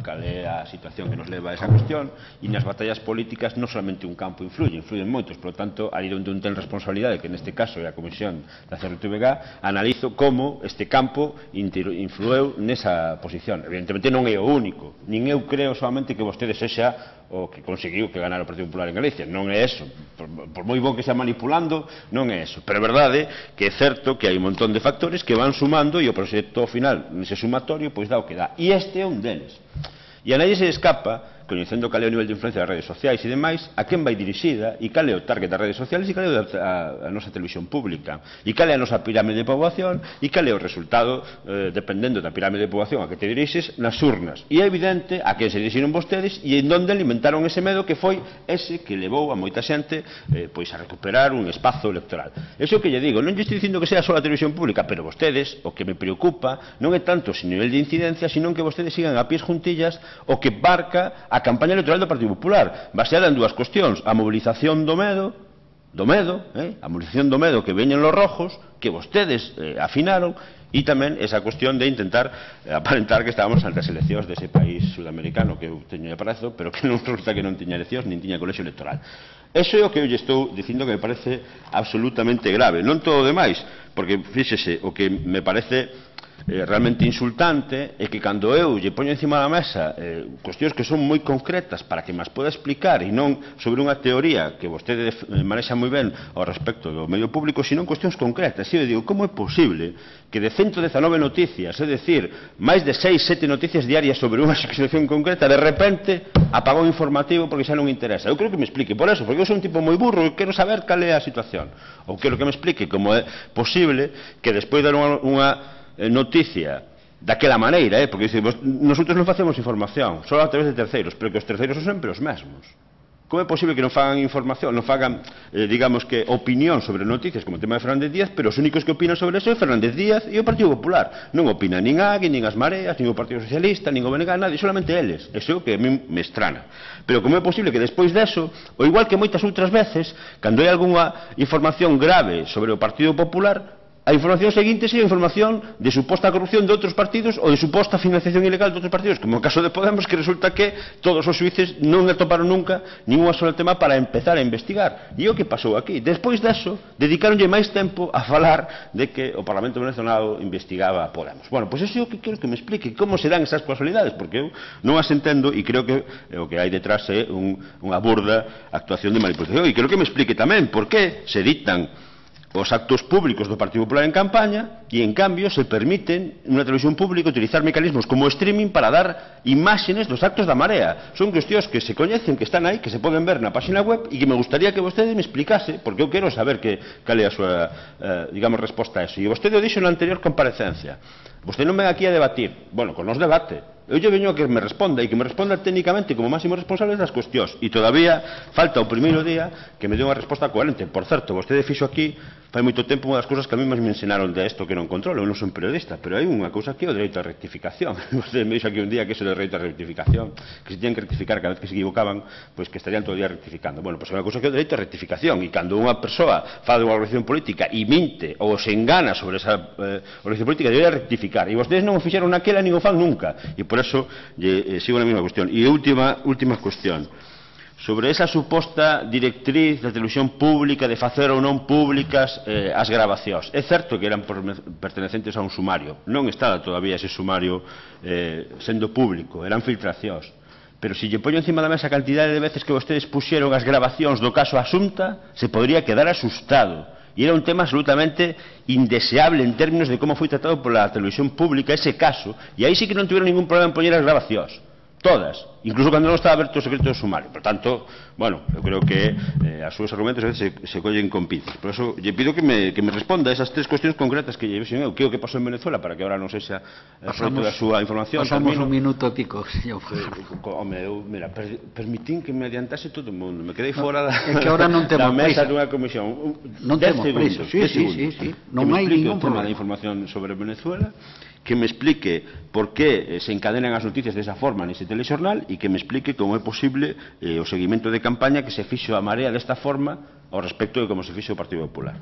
cal é a situación que nos leva a esa cuestión, e nas batallas políticas non solamente un campo influyen moitos, por lo tanto, ali onde un ten responsabilidade, que neste caso é a Comisión da CRTVG, analizo como este campo influeu nesa posición. Evidentemente non é o único, nin eu creo solamente que vostede sexa o que conseguiu que ganara o Partido Popular en Galicia, non é eso, por moi bon que xa manipulando, non é eso, pero é verdade que é certo que hai un montón de factores que van sumando e o proxecto final, nese sumatorio, pois dá o que dá, e este é un deles. E a nadie se escapa, coñecendo cal é o nivel de influencia das redes sociais e demais, a quen vai dirixida, e cal é o target das redes sociais, e cal é a nosa televisión pública, e cal é a nosa pirámide de poboación, e cal é o resultado, dependendo da pirámide de poboación a que te dirixes, nas urnas. E é evidente a quen se dirixiron vostedes e en donde alimentaron ese medo que foi ese que levou a moita xente pois a recuperar un espazo electoral. Eso que lle digo, non lle estou dicindo que sea só a televisión pública, pero vostedes, o que me preocupa non é tanto o nivel de incidencia, sino que vostedes sigan a pies juntillas o que marca a campaña electoral do Partido Popular, baseada en dúas cuestións: a movilización do medo, a movilización do medo que veñen los rojos, que vostedes afinaron, e tamén esa cuestión de intentar aparentar que estábamos ante as eleccións dese país sudamericano que eu teño aprezo, pero que non resulta que non tiña eleccións, nin tiña colexio electoral. Eso é o que eu lle estou dicindo que me parece absolutamente grave, non todo o demais, porque, fíxese, o que me parece realmente insultante é que cando eu lle poño encima da mesa cuestións que son moi concretas para que mas poda explicar e non sobre unha teoría que vostede manexa moi ben ao respecto do medio público, sino cuestións concretas. E eu digo, como é posible que de 119 noticias, é dicir, máis de 6, 7 noticias diarias sobre unha situación concreta, de repente apagón informativo porque xa non interesa? Eu creo que me explique por eso, porque eu sou un tipo moi burro e quero saber cal é a situación, ou quero que me explique como é posible que despois de dar unha noticia daquela maneira, porque nosotros non facemos información só a través de terceiros, pero que os terceiros son sempre os mesmos. Como é posible que non fagan información, non fagan, digamos que, opinión sobre noticias como o tema de Fernández Díaz, pero os únicos que opinan sobre eso é Fernández Díaz e o Partido Popular? Non opina nin a Agui, nin as Mareas, nin o Partido Socialista, nin o BNG, nadie, solamente eles. Eso é o que a mí me estrana. Pero como é posible que despois deso, ou igual que moitas outras veces, cando hai algunha información grave sobre o Partido Popular, a información seguinte sería a información de suposta corrupción de outros partidos ou de suposta financiación ilegal de outros partidos, como o caso de Podemos, que resulta que todos os xuíces non atoparon nunca ningún solo tema para empezar a investigar. E o que pasou aquí? Despois deso, dedicaronlle máis tempo a falar de que o Parlamento venezolano investigaba a Podemos. Bueno, pois eso é o que quero que me explique, como se dan esas casualidades, porque eu non as entendo e creo que o que hai detrás é unha burda actuación de manipulación. E quero que me explique tamén por que se dictan os actos públicos do Partido Popular en campaña e, en cambio, se permiten nunha televisión pública utilizar mecanismos como o streaming para dar imágenes dos actos da Marea. Son cuestións que se coñecen, que están aí, que se poden ver na página web e que me gustaría que vostede me explicase, porque eu quero saber cal é a súa, digamos, resposta a eso. E vostede o dixo na anterior comparecencia. Vostede non ven aquí a debatir. Bueno, con nos debate. Eu lle veño a que me responda, e que me responda técnicamente como máximo responsable das cuestións. E todavía falta o primeiro día que me dé unha resposta coherente. Por certo, vostede fixo aquí fai moito tempo unha das cousas que a mí me ensinaron de isto que non controlo. Eu non son periodista, pero hai unha cousa aquí, o dereito a rectificación. Vostede me dixo aquí un día que iso do dereito a rectificación, que se tiñan que rectificar cada vez que se equivocaban, pois que estarían todo o día rectificando. Bueno, pois é unha cousa que é o dereito a rectificación, e cando unha persoa fa unha organización política e minte ou se engana sobre esa organización política, debería rectificar. E vostedes non o fixeron naquela nin o fan nunca. E por eso sigo na mesma cuestión. E última cuestión. Sobre esa suposta directriz da televisión pública de facer ou non públicas as grabacións. É certo que eran pertenecentes a un sumario. Non está todavía ese sumario sendo público. Eran filtracións. Pero se lle poño encima da mesa a cantidade de veces que vostedes puxeron as grabacións do caso Asunta, se podría quedar asustado. E era un tema absolutamente indeseable en términos de como foi tratado pola televisión pública ese caso, e aí sí que non tiveron ningún problema en poñer as grabacións, todas, incluso cando non estaba aberto o secreto do sumario. Por tanto, bueno, eu creo que as súas argumentos a veces se collen con pinzas. Por eso lle pido que me responda a esas tres cuestións concretas que lle vexen eu, que é o que pasou en Venezuela, para que agora non sexa fruto da súa información. Pasamos un minuto e pico, señor. Home, eu, mira, permitín que me adiantase todo o mundo, me quedei fora da mesa dunha comisión. Non temos prisa, sí. Non hai ningún problema. Da información sobre Venezuela, que me explique por que se encadenan as noticias desa forma nese telexornal e que me explique como é posible o seguimento de campaña que se fixo a Marea desta forma ao respecto de como se fixo o Partido Popular.